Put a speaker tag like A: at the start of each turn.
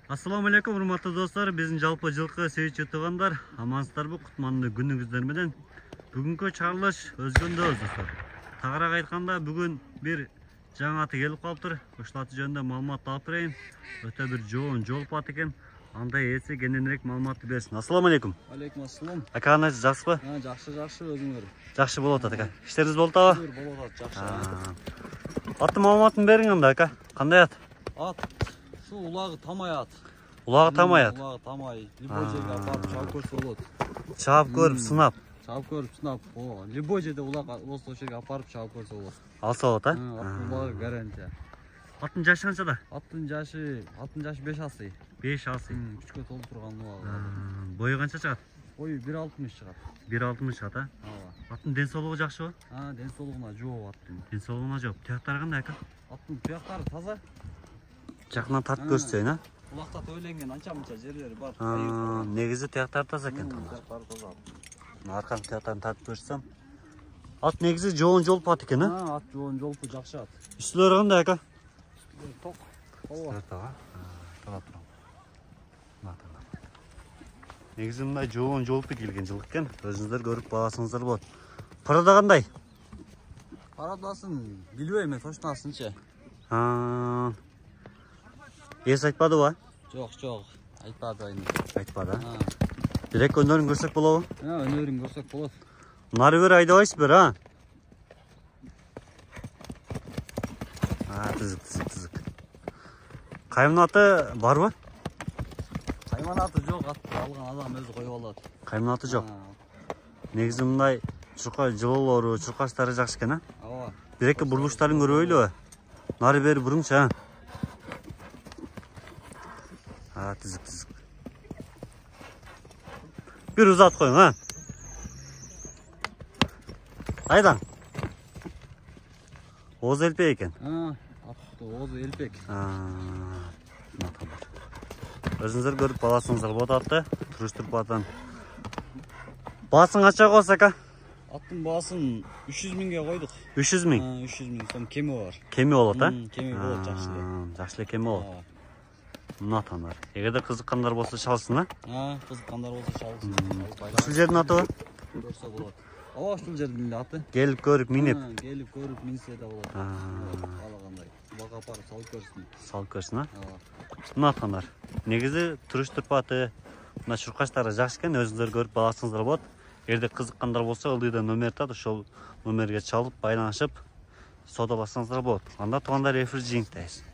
A: Ассаламу алейкум, урматтуу достор. Биздин жалпы жылкы сейитчи туугандар, амансыздарбы? Кутмандуу күнүңүздөр менен. Бүгүнкү чыгарылыш өзгөндө достор. Тагыраак айтканда, бүгүн бир жаңы аты келип калыптыр. Ушул аты жөнүндө маалымат алып берейин. Өтө бир жоон жолуп ат экен. Андай эси кененирээк маалыматты берсин. Ассаламу алейкум.
B: Алейкум ассалам.
A: Ака, кандайсыз, жакшысызбы?
B: Жакшы, өзүңөр.
A: Жакшы болуп атат ака. Иштериңиз болуп атабы?
B: Болуп атат, жакшы.
A: Аттын маалыматын бериң анда ака. Кандай ат?
B: Ат ушул улагы Тамай ат.
A: Улагы Тамай ат.
B: Улагы Тамай. Любой жерге апарып чаап көрсө болот.
A: Чаап көрүп, сынап.
B: Чаап көрүп, сынап. Любой жерде улак болсо ошол жерге апарып чаап көрсө болот.
A: Алса болот, а?
B: Аттын улагы гарантия.
A: Аттын жашы канчада?
B: Аттын жашы 5 асый.
A: 5 асый.
B: Күчкө толуп турган улагы.
A: Бою канча чыгат?
B: Бою 1.60 чыгат.
A: 1.60 чыгат, а?
B: Ооба.
A: Аттын ден соолугу жакшыбы?
B: Ден соолугуна жооп аттын.
A: Ден соолугуна жооп. Тияктары кандай ака?
B: Аттын тияктары таза.
A: Жакынан тартып көрсөтөйүн, а?
B: Улакта тойленген анча-мынча жерлери бар.
A: Негизи тияктары таза экен.
B: Тияктары таза.
A: Арканын тияктарын тартып көрсөтсөм. Ат негизи жоон жолуп ат экен, а?
B: Ат жоон жолпу жакшы ат.
A: Үстүлөрү кандай ака?
B: Ток. Ооба.
A: Тага турам. Негизи мындай жоон жолуп келген жылкы экен. Өзүңүздөр көрүп баасыңыздар болот. Парада кандай?
B: Парадасын билбейм мен, точносынчы.
A: Эс айтпадыбы?
B: Жок, айтпады айны.
A: Айтпады. Бирек өнөрүн көрсөк болобу?
B: Өнөрүн көрсөк болот.
A: Нары бери айдабайсызбы, а? Тызык. Каймын аты барбы?
B: Кайман аты жок, атты алган адам өзү коюп алат.
A: Каймын аты жок. Негизи мындай чурка жылоолору, чуркачтары жакшы экен, а?
B: Ооба.
A: Бир-эки бурулуштарын көрбөйлүбү? Нары бери бурыңчу, а? Тызык. Бир узат коюң, а? Айдан. Ооз элпек экен.
B: Атты Ооз элпек.
A: Өзүңүздөр көрүп баласыңыздар болот атты. Туруштуруп атан. Баасын канча коесуз ака?
B: Аттын баасын 300 миңге койдук.
A: 300 миң?
B: 300 миң сом кеми бар.
A: Кеми болот, а?
B: Кеми болот, жакшы эле.
A: Жакшы эле кеми болот. Мынатандар. Эгерде кызыккандар болсо чалсын, а?
B: Кызыккандар болсо чалсын.
A: Ушул жердин атыбы?
B: Көрсө болот. Ооба, ушул жердин аты.
A: Келип көрүп, минип.
B: Келип көрүп, минсе да болот. Каалагандай. Бага апарып салып көрсүн.
A: Салып көрсүн, а? Мынатандар. Негизи туруштуруп аты, мына чуркачтары жакшы экен, өзүңүздөр көрүп баласыңыздар болот. Эгерде кызыккандар болсо, ылдыйда номер тат, ошол номерге чалып, байланышып, соодалашсаңыздар болот. Анда туугандар эфир жиңиктейбиз.